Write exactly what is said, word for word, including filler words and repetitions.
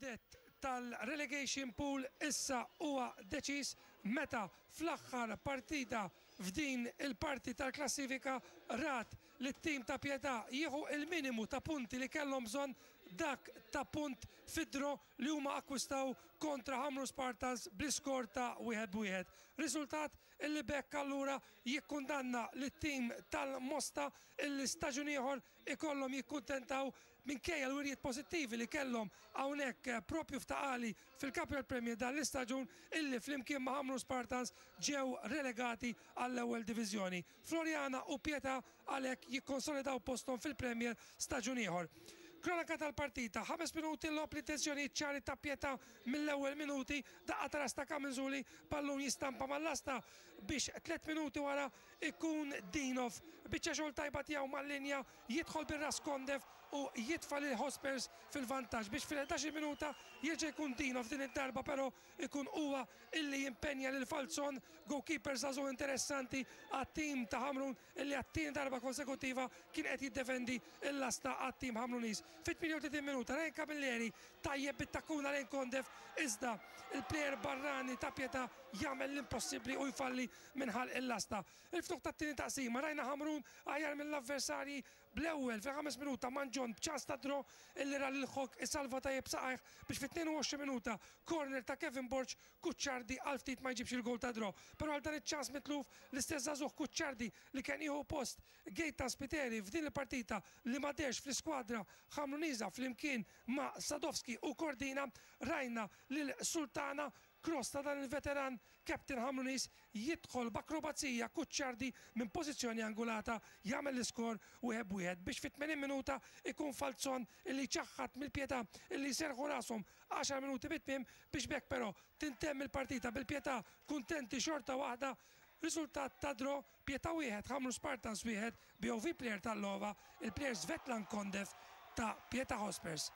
Il-verdett tal-relegation pool issa huwa deċiż meta fl-aħħar partita f'din il-parti tal-klassifika rat li t-tim ta' Pietà jieħu il-minimu ta' punti li kellhom bżonn, dak ta' punt fid-draw li huma akkwistaw kontra Ħamrun Spartans bl-iskor ta' wieħed b'wieħed. Riżultat illi b'hekk allura jikkundanna lit-tim tal-Mosta illi staġun ieħor ikollhom jikkuntentaw, minkejja l-wirjiet pożittivi li kellhom hawnhekk propju f'Ta' Qali fil-Capital Premier dan l-istaġun, illi flimkien ma' Ħamrun Spartans ġew relegati għall-ewwel diviżjoni. Floriana u Pietà għalhekk jikkonsolidaw posthom fil-Premier staġun ieħor. Kronaka tal-partita, ħames minuti logħob, l-intenzjoni ċari ta' Pietà mill-ewwel minuti, daqqa ta' ras ta' Camenzuli, ballun jistampa mal-lasta biex tliet minuti wara ikun Dinov. Biċċa xogħol tajba tiegħu mal-linja, jidħol bir-ras Kondev u jitfa' lil Hotspurs fil-vantaġġ biex fil-ħdax-il minuta jerġa' jkun Dinov, din id-darba però ikun huwa illi jimpenja lil Falzon, goalkeeper żagħżugħ interessanti għat-tim ta' Ħamrun illi għat-tieni darba konsekutiva kien qed jiddefendi l-lasta għat-tim Ħamruniż. Fit-tmienja u tletin minuta Ryan Camilleri tajjeb bit-takkuna lejn Kondev, iżda il-plejer barrani ta' Pietà jagħmel l-impossibbli u jfalli minħal il-lasta. Il-ftuħ tat-tieni taqsima rajna Ħamrun aħjar mill-avversarji, bl-ewwel fil-ħames minuta Manġon b'ċans ta' draw illi ra lil Hogg isalva tajjeb saqajh, biex fit-tnejn u għoxrin minuta corner ta' Kevin Borg, Kuċċardi għal ftit ma jġibx il-gol ta' draw. Però għal dan iċ-ċans mitluf, l-istess żagħżugħ Kuċċardi li kien jieħu post Gaetan Spiteri f'din il-partita li ma dehrx fl-iskwadra Ħamruniża flimkien ma' Sadowski u Cordina, rajna lil Sultana, cross ta' dan il-veteran Captain Ħamruniż, jidħol b'akrobazija Kuċċardi minn pożizzjoni angolata, jagħmel l-iskor wieħed b'wieħed, biex fit-tmenin minuta ikun Falzon illi ċaħħat mill-Pietà illi serħu rashom għaxar minuti bit-tmiem, biex b'hekk però tintemm il-partita bil-Pietà kuntenti xorta waħda. Riżultat ta' draw, Pietà wieħed, Ħamrun Spartans wieħed, B O V player tal-logħba, il-player Svetlan Kondev ta' Pietà Hotspurs.